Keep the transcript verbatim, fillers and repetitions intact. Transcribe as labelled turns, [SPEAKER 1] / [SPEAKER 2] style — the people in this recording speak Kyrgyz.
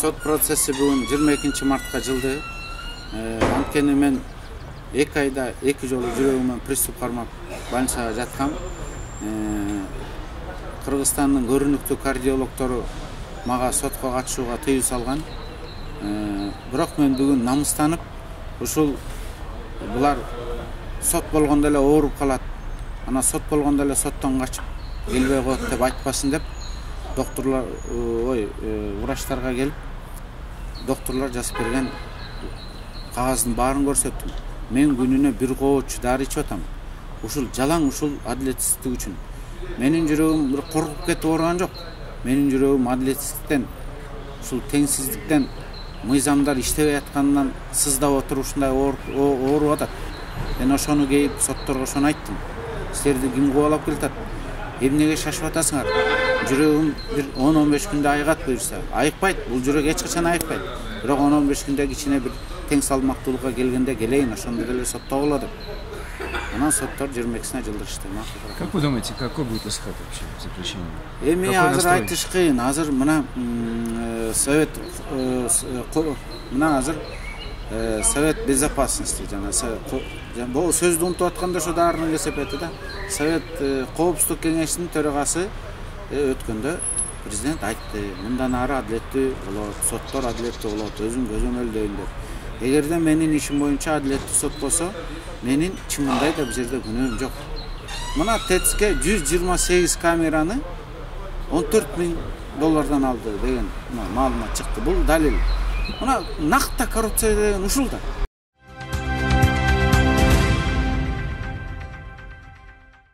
[SPEAKER 1] сот процесси бүгүн жыйырма экинчи мартка жылды. Анткени мен эки айда эки жолу жүрөгүмөн приступ кармап больницага жаткам. Кыргызстандын көрүнүктүү кардиологтору мага сотко катышууга тыюу салган. Бирок мен бүгүн намыстанып, ушул булар сот болгондо эле ооруп калат, ана сот болгондо эле соттон качып келбей коет деп айтпасын деп, докторлор, ой, врачтарга келип, докторлор жазып берген кагаздын баарын көрсөттүм. Мен күнүнө бир кооч дары ичип атам. Ушул жалаң ушул адилетсиздик үчүн. Менин жүрөгүм бир коркуп кетип ооруган жок. Менин жүрөгүм адилетсиздиктен, ушул теңсиздиктен, мыйзамдар иштебей аткандан сыздап отуруп ушундай ооруп атат. Мен ошону кейип сотторго ошону айттым. Силерди ким кубалап келатат? Эмнеге шашып атасыңар? Жүрөгүм бир он он беш күндө айыгат буюрса. Айыкпайт, бул жүрөк эч качан айыкпайт. Бирок он он беш күндө кичине бир тең салмактуулукка келгенде келейин, ошондо деле соттогула деп. Анан соттор жыйырма экисине жылдырышты.
[SPEAKER 2] Как вы думаете, какой будет исход вообще заключения?
[SPEAKER 1] Эми азыр айтыш кыйын. Азыр мына совет мына азыр Совет безопасности жана бул сөздү унутуп атканда ошо даарынын кесепети да. Совет коопсуздук кеңешинин төрагасы өткөндө президент айтты, мындан ары адилеттүү болот, соттор адилеттүү болот, өзүм көзөмөлдөйм деп. Эгерде менин ишим боюнча адилеттүү сот болсо, менин чынында да бул жерде күнөөм жок. Мына ТЭЦке жүз жыйырма сегиз камераны он төрт миң доллардан алды деген маалымат чыкты. Бул далил. Мына накта коррупция деген ушул да.